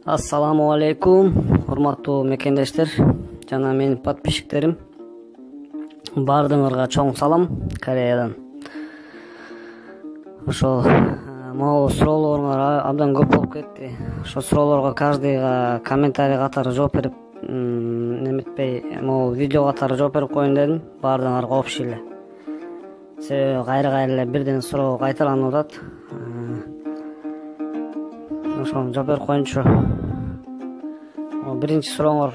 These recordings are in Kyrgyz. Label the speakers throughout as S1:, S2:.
S1: Ассаламу алейкум, урматтуу мекендештер жана менин подписчиктерим. Бардыңарга чоң салам Кореядан. Ошо могу суроолоруңар абдан көп болуп кетти. Ошо суроолорго каждыйга комментарий катары жооп берип, неметпей, могу видео катары жооп берип коеюн дедим. Бардыңарга общий эле. Себеби кайра эле бирден суроо кайталанып атат. Ошону жооп берип коеюнчу. Биринчи сурооңор,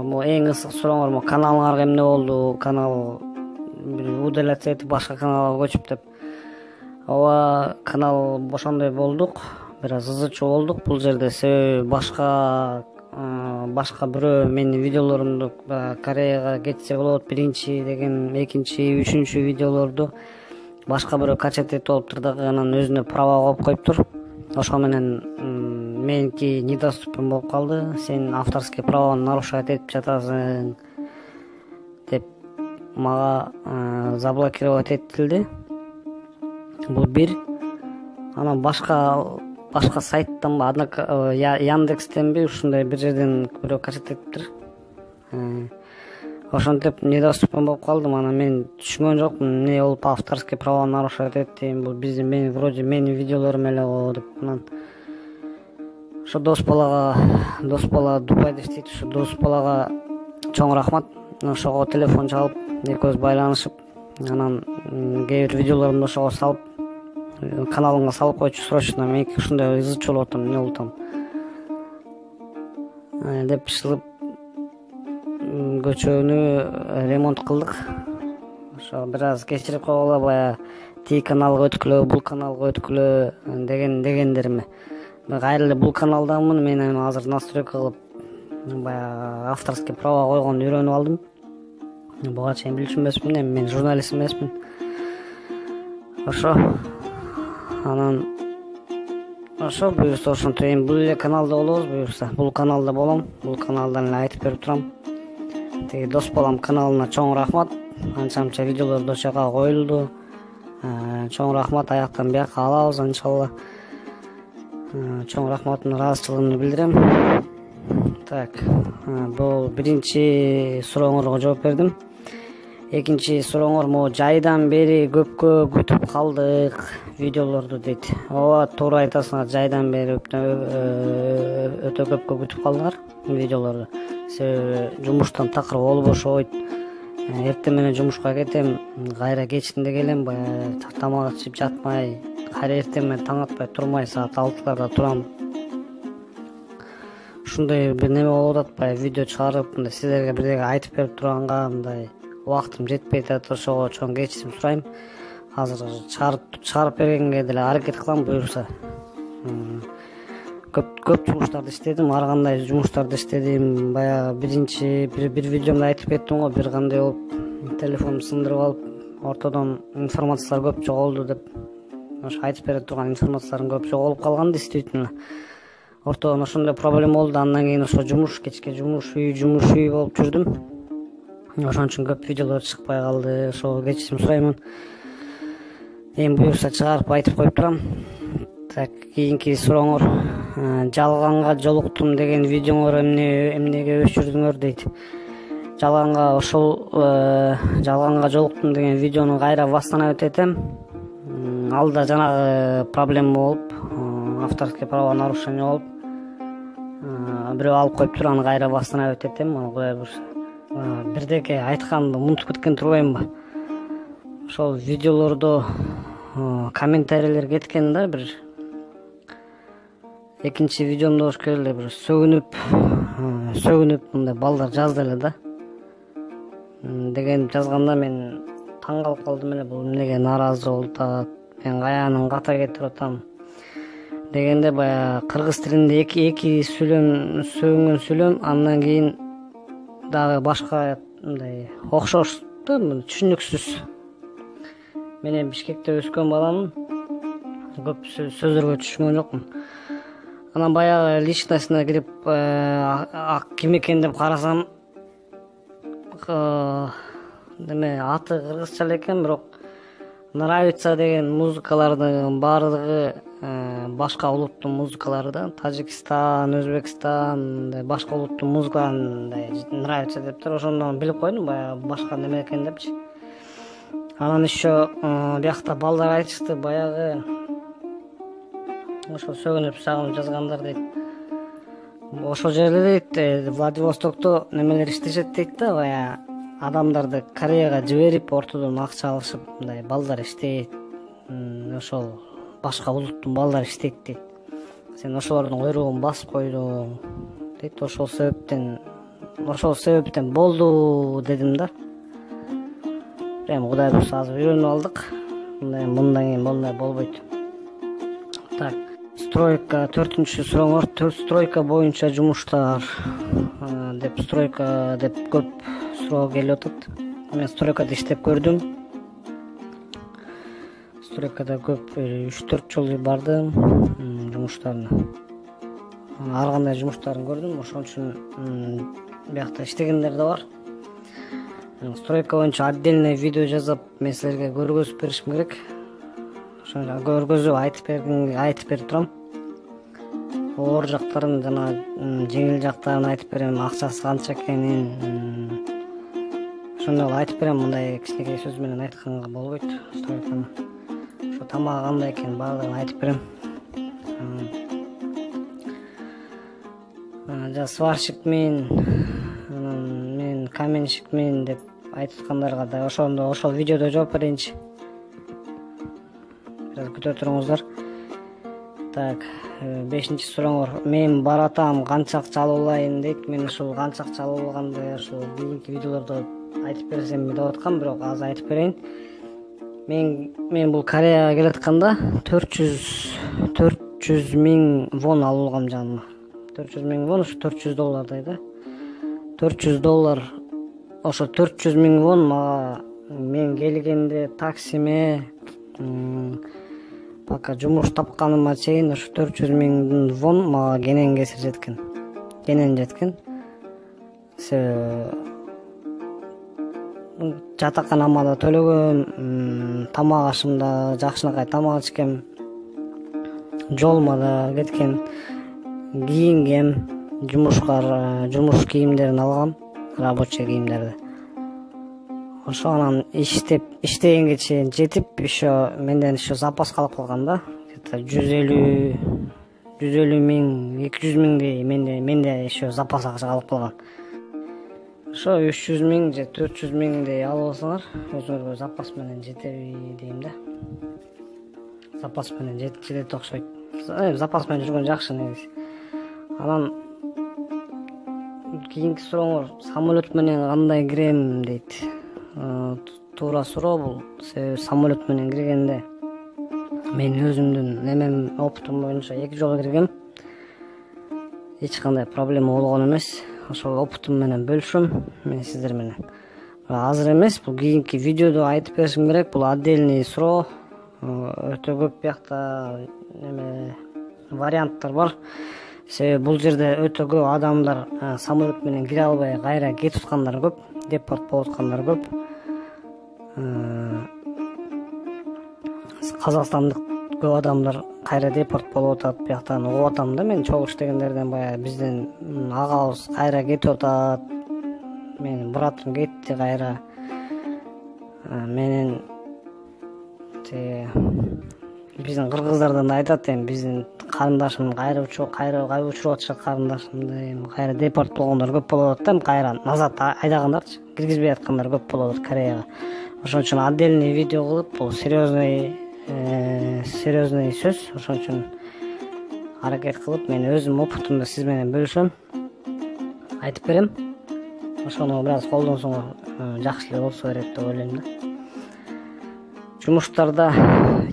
S1: могу эң ысык сурооңор, могу каналыңарга эмне болду? Канал удаляться этип башка каналга көчүп деп. Ооба, канал ошондой болдук. Бир аз ызычуу болдук бул жерде. Себеби башка бирөө менин видеолорумду Кореяга кетсе болот, биринчи деген, экинчи, үчүнчү видеолорду башка бирөө качать этип алыптыр дагы, анан өзүнө права коюп коюптур. Ошо менен меники недоступен болуп калды. Сен авторский правону нарушать этип жатасың деп мага заблокировать этилди. Бул бир. Анан башка сайттанбы, Яндекстенби ушундай бир жерден бирөө качать этиптир. Ошентип недоступен болуп калдым. Анан мен түшүнгөн жокмун эмне болуп авторский право нарушать эттим. Бул менин вроде менин видеолорум эле го деп. Анан ошо дос бала Дубайда иштейт. Ошо дос балага чоң рахмат. Ошого телефон чалып, экөөбүз байланышып, анан кээ бир видеолорумду ошого салып, каналыңа салып койчу срочно. Мен ушундай ызычуу болуп атам, эмне болуп атам деп чыгып көчөнү ремонт кылдык. Ошо бир аз кечирип койгула, баягы тиги каналга өткүлө, бул каналга өткүлө дегендериме. Мен кайра эле бул каналдамын. Мен азыр настройка кылып, баягы авторский право койгонду үйрөнүп алдым. Буга чейин билчү эмесмин, мен журналист эмесмин. Ошо анан буюрса ошентип эми бул эле каналда болобуз, буюрса бул каналда болом. Бул каналдан эле айтып берип турам. Тиги дос балам каналына чоң рахмат. Анча видеолорду ошол жака коюлду. Чоң рахмат, аяктан бияка алабыз иншалла. Чоң рахматымды, ыраазычылыгымды билдирем. Так, бул биринчи сурооңорго жооп бердим. Экинчи сурооңор, могу жайдан бери көпкө күтүп калдык видеолорду дейт. Ооба, туура айтасыңар, жайдан бери өтө көпкө күтүп калдыңар видеолорду. Себеби жумуштан такыр болуп бошобойт. Эртең менен жумушка кетем, кайра кечинде келем, баягы тамак ичип жатмай, кайра эртең менен таң атпай турмай саат 6-ларда турам. Ушундай бир неме болуп атат, баягы видео чыгарып, мындай силерге бирдеге айтып берип турганга мындай убактым жетпей атат. Ошого чоң кечирим сурайм. Азыр чыгарып бергенге деле аракет кылам, буюрса. Көп жумуштарды иштедим, ар кандай жумуштарды иштедим. Баягы бир видеомда айтып кеттим го, бир кандай болуп телефонумду сындырып алып, ортодон информациялар көп жоголду деп. Ошо айтып бере турган информацияларым көп жоголуп калган, действительно. Ортодон ошондой проблема болду. Андан кийин ошо кечке жумуш үй болуп жүрдүм. Ошон үчүн көп видеолор чыкпай калды. Ошого кечирим сураймын. Эми буюрса чыгарып айтып коюп турам. Так, кийинки сурооңор, жалганга жолуктум деген видеоңор эмнеге өчүрдүңөр дейт. Жалганга жолуктум деген видеону кайра восстановить этем. Алда жанагы проблема болуп, авторский право нарушение болуп, бирөө алып коюптур, аны кайра восстановить этем. Кудай буюрса, бирдеке айтканды унутуп кеткен турбаймынбы? Ошол видеолордо комментарийлер кеткен да, бир экинчи видеомдо болуш керек эле, бир сөгүнүп мындай балдар жазды эле да. Деген жазганда мен таң калып калдым эле, бул эмнеге нааразы болуп атат, мен каянын ката кетирип атам дегенде, баягы кыргыз тилинде эки сөгүнгөн сүйлөм, андан кийин дагы башка мындай окшош да, түшүнүксүз. Мен эми Бишкекте өскөн баламын, көп сөздөргө түшүнгөн жокмун. Анан баягы личностуна кирип, ким экен деп карасам, аты кыргызча эле экен, бирок нравится деген музыкалардын баардыгы башка улуттун музыкалары да, Тажикстан, Өзбекстан, мындай башка улуттун музыкалары мындай нравится дептир. Ошондон билип койдум баягы башка неме экен депчи. Анан еще биякта балдар айтышты, баягы ошо сөгүнүп сагынып жазгандар дейт. Ошол жерде дейт, Владивостокто немелер иштешет дейт да, баягы адамдарды Кореяга жиберип ортодон акча алышып, мындай балдар иштейт. Ошол башка улуттун балдары иштейт дейт. Сен ошолордун койругун басып койдуң дейт. Ошол себептен болду дедим да. Эми Кудай буюрса азыр үйрөнүп алдык. Мындан кийин мондай болбойт. Так, стройка 4-суроңор, стройка боюнча жумуштар деп стройка деп көп суроо келип атат. Мен стройкада иштеп көрдүм. Стройкада көп 3-4 жолу бардым жумуштарына. Ар кандай жумуштарын көрдүм. Ошон үчүн биякта иштегендер да бар. Стройка боюнча отдельный видео жазып, мен силерге көргөзүп беришим керек. Ошону көргөзүп айтып берип турам. Оор жактарын жана жеңил жактарын айтып берем, акчасы канча экенин. Ошондой айтып берем, мындай кичинекей сөз менен айтканга болбойт. Стройканы ошо тамагы кандай экенин баардыгын айтып берем. Жа сварщикмин, мен каменщикмин деп айткандарга да ошол видеодо жооп берейинчи. Бираз күтө туруңуздар. Так, 5-суроңор. Мен баратам, канча акча алып алайын дейт. Мен ушул канча акча алып алганды ушул кийинки видеолордо айтып берсем деп аткам, бирок азыр айтып берейин. Мен бул Кореяга келатканда 400 миң вон алып алгам жаныма. 400 миң вон, ушу $400 да. $400. Ошо 400 миң вон мага мен келгенде таксиме пока жумуш тапканыма чейин ошо 400 миң вон мага кенен кесир жеткен. Жатаканама да төлөгөм, тамак ашым да жакшынакай тамак ичкем, жолума да кеткен, кийингем, жумуш кийимдерин алгам, рабочий кийимдерди. Ошо анан иштегенге чейин жетип, еще менден еще запас калып калган да. 150 миң, 200 миңдей менде еще запас акча калып калган. Ошо 300 миң же 400 миңдей алып алсаңар, өзүңөргө запас менен жетеби дейм да. Запас менен жетет окшойт. Запас менен жүргөн жакшы негизи. Анан кийинки сурооңор, самолет менен кандай кирем дейт. Туура суроо бул. Себеби самолет менен киргенде мен өзүмдүн опытым боюнча 2 жолу киргем. Эч кандай проблема болгон эмес. Ошол опытым менен бөлүшөм мен сиздер менен. Азыр эмес, бул кийинки видеодо айтып беришим керек. Бул отдельный суроо. Өтө көп биякта варианттар бар. Себеби бул жерде өтө көп адамдар самолет менен кире албай кайра кетип аткандар көп, депорт болуп аткандар көп. Казакстандык көп адамдар кайра депорт болуп атат, бияктан угуп атам да. Мен чогуу иштегендерден баягы бизден агабыз кайра кетип атат. Менин братым кетти кайра. Менин биздин кыргыздардан да айтат, эми биздин карындашым кайра учуруп атышат, карындашымды кайра депорт болгондор көп болуп атат да, кайра назад айдагандарчы, киргизбей аткандар көп болуп атат Кореяга. Ошон үчүн отдельный видео кылып, бул серьезный сөз. Ошон үчүн аракет кылып, мен өзүм опытымды сиз менен бөлүшөм, айтып берем. Ошону бир аз колдонсоңор жакшы эле болсо керек деп ойлойм да. Жумуштарда,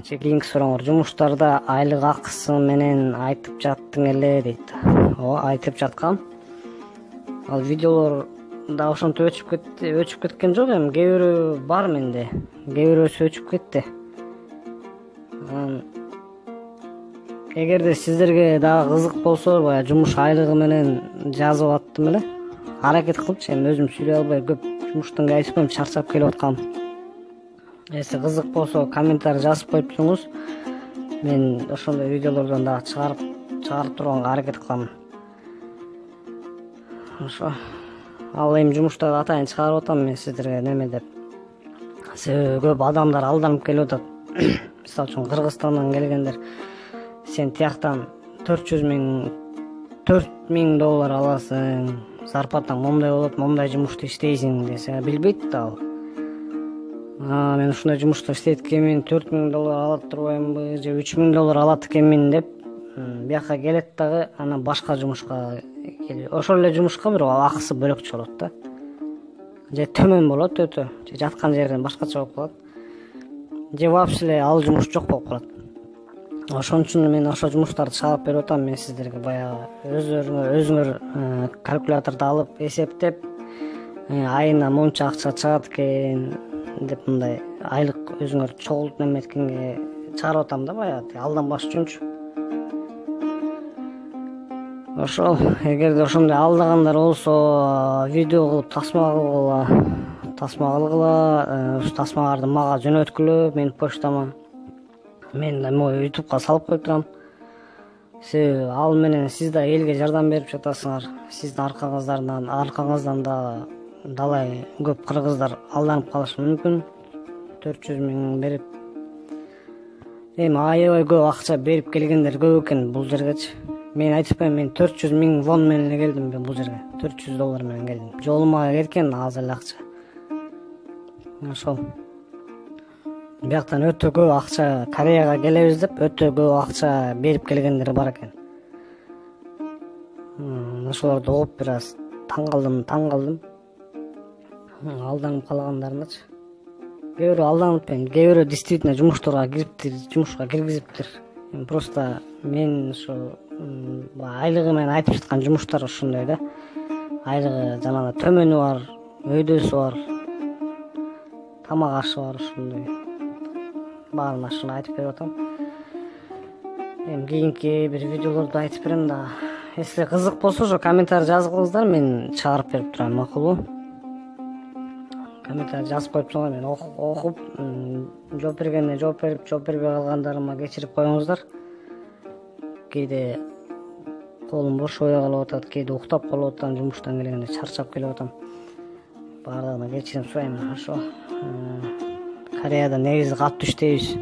S1: кийинки сурооңор, жумуштарда айлык акысы менен айтып жаттың эле дейт. Ооба, айтып жаткам. Ал видеолор да ошонтип өчүп кеткен жок, эми кээ бирөө бар менде, кээ бирөөсү өчүп кетти. Эгерде сиздерге дагы кызык болсо, баягы жумуш айлыгы менен жазып аттым эле. Аракет кылыпчы, эми өзүм сүйлөй албай көп жумуштан кайсым чарчап келип аткам. Эси кызык болсо комментарий жазып коюп туруңуз. мен ошондой видеолордон дагы чыгарып турганга аракет кылам. Ошо ал эми жумуштарды атайын чыгарып атам мен сиздерге неме деп. Себеби көп адамдар алданып келип атат. Мисалы үчүн Кыргызстандан келгендер сен тияктан 400 000 доллар аласың, зарплатаң момундай болот, момундай жумушта иштейсиң десе билбейт да ал. Мен ушундай жумушта иштейт экенмин, 4000 доллар алат турбаймынбы же 3000 доллар алат экенмин деп бияка келет дагы анан башка жумушка келип, ошол эле жумушка бирок акысы бөлөкчө болот да. Же төмөн болот өтө, же жаткан жерден башкача болуп калат. Же вообще эле ал жумуш жок болуп калат. Ошон үчүн мен ошол жумуштарды чыгарып берип атам мен сиздерге. Баягы өзүңөр калькуляторду алып эсептеп, айына монча акча чыгат экен деп мындай айлык өзүңөр чогултуп неметкенге чыгарып атам да, баягы алданбаш үчүнчү. Ошол эгерде ошондой алдагандар болсо видео кылып тасма кылгыла, ушу тасмаларды мага жөнөткүлө менин почтама. Мен могу ютубка салып коюп турам. Себеби ал менен сиз да элге жардам берип жатасыңар. Сиздин аркаңыздан да далай көп кыргыздар алданып калышы мүмкүн. 400 000 берип. Эми аябай көп акча берип келгендер көп экен бул жергечи. Мен айтып коеюн, мен 400 000 вон менен эле келдим бул жерге. 400 доллар менен келдим. Жолума кеткен аз эле акча. Ошол. Бияктан өтө көп акча Кореяга келебиз деп өтө көп акча берип келгендер бар экен. Ошолорду угуп бир аз таң калдым. Алданып калгандарынычы. Кээ бирөө алданып, кээ бирөө действительно жумушка киргизиптир. Просто мен ошо айлыгы менен айтып жаткан жумуштар ошондой да. Айлыгы жанагы төмөнү бар, өйдөсү бар, тамак ашы бар, ошондой. Баарын ашыгын айтып берип атам. Эми кийинки бир видеолорду айтып берем да. Если кызык болсо ошо комментарий жазгылыңыздар, мен чыгарып берип турам, макулбу? Комментарий жазып коюп турганда мен окуп, жооп бергенде жооп берип, жооп бербей калгандарыма кечирип коюңуздар. Кээде колум бошобой калып атат, кээде уктап калып атам, жумуштан келгенде чарчап келип атам. Баардыгына кечирим сурайм. Ошо Кореяда негизи катуу иштейбиз.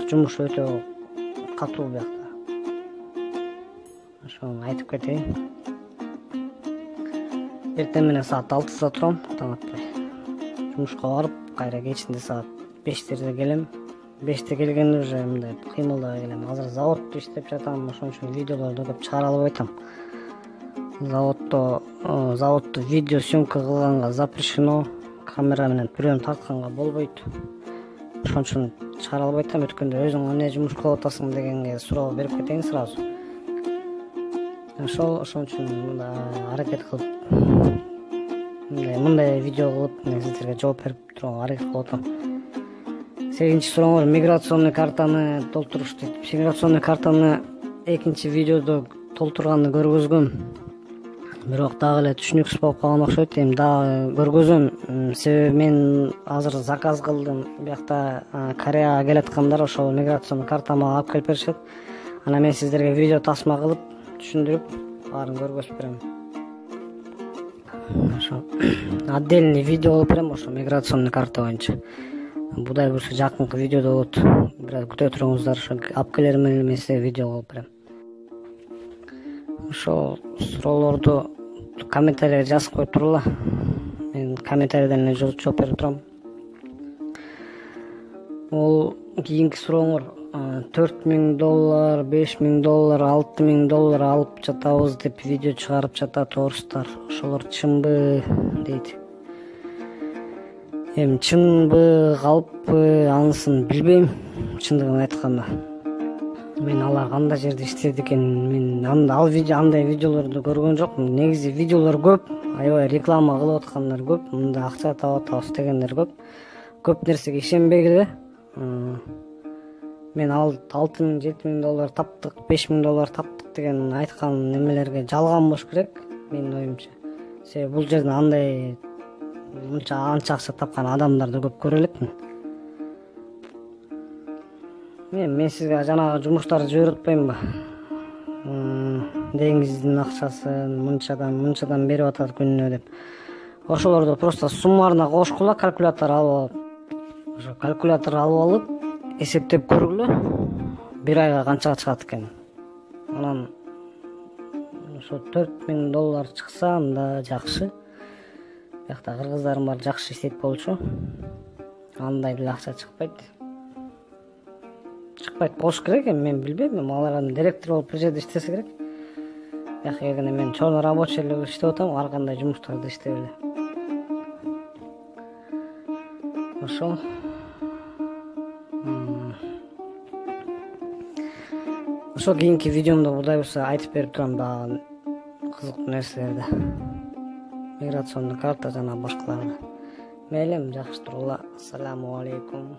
S1: Жумуш өтө катуу биякта. Ошону айтып кетейин. Эртең менен саат 6-да турам, таң атпай. Жумушка барып, кайра кечинде саат 5-терде келем. 5-те келгенде уже мындай кыймылдабай келем. Азыр заводдо иштеп жатам, ошон үчүн видеолорду көп чыгара албай атам. Заводдо видео съемка кылганга запрещено, камера менен прием тартканга болбойт. Ошон үчүн чыгара албай атам. Өткөндө өзүң эмне жумуш кылып атасың дегенге суроо берип кетейин сразу. Ошон үчүн мындай аракет кылып, мындай видео кылып мен сиздерге жооп берип турганга аракет кылып атам. 8-чи сурооңор миграционный картаны толтуруш дейт. Миграционный картаны экинчи видеодо толтурганды көргөзгөм. Бирок дагы эле түшүнүксүз болуп калган окшойт. Эми дагы көргөзөм. Себеби мен азыр заказ кылдым. Биякта Кореяга келаткандар ошол миграционный картамды алып келип беришет. Анан мен сиздерге видео тасма кылып түшүндүрүп баарын көргөзүп берем. Ошо отдельный видео кылып берем ошо миграционный карта боюнча. Будай буюрса жакынкы видеодо болот. Бир аз күтө туруңуздар, ошо алып келер менен мен сизге видео кылып берем. Ошо суроолорду комментарийге жазып коюп тургула. Мен комментарийден эле жооп берип турам. Ол кийинки сурооңор 4000 доллар, 5000 доллар, 6000 доллар алып жатабыз деп видео чыгарып жатат орустар. Ошолор чынбы дейт. Эми чынбы, калппы, анысын билбейм, чындыгын айтканда. Мен алар кандай жерде иштейт экен, мен андай видеолорду көргөн жокмун. Негизи видеолор көп, аябай реклама кылып аткандар көп, мында акча таап атабыз дегендер көп. Көп нерсеге ишенбегиле. Мен 6000, 7000 доллар таптык, 5000 доллар таптык деген айткан немелерге жалган болуш керек, менин оюмча. Себеби бул жерден андай анча акча тапкан адамдарды көп көрө элекмин. мен сизге жанагы жумуштарды жиберип атпаймынбы? Деңиздин акчасын мынчадан берип атат күнүнө деп. Ошолорду просто суммарына кошкула, калькулятор алып ошо калькулятор алып эсептеп көргүлө. Бир айга канчага чыгат экен. Анан ошо $4000 чыкса анда жакшы. Биякта кыргыздарым бар жакшы иштейт болчу. Андай деле акча чыкпайт болуш керек, мен билбейм. Алар директор болуп бир жерде иштесе керек. Бияка келгенде мен чоң рабочий эле иштеп атам, ар кандай жумуштарды иштеп эле. Ошо кийинки видеомдо Кудай буюрса айтып берип турам дагы кызыктуу нерселерди. Миграционный карта жана башкаларды. Мейлим, жакшы тургула. Ассаламу алейкум.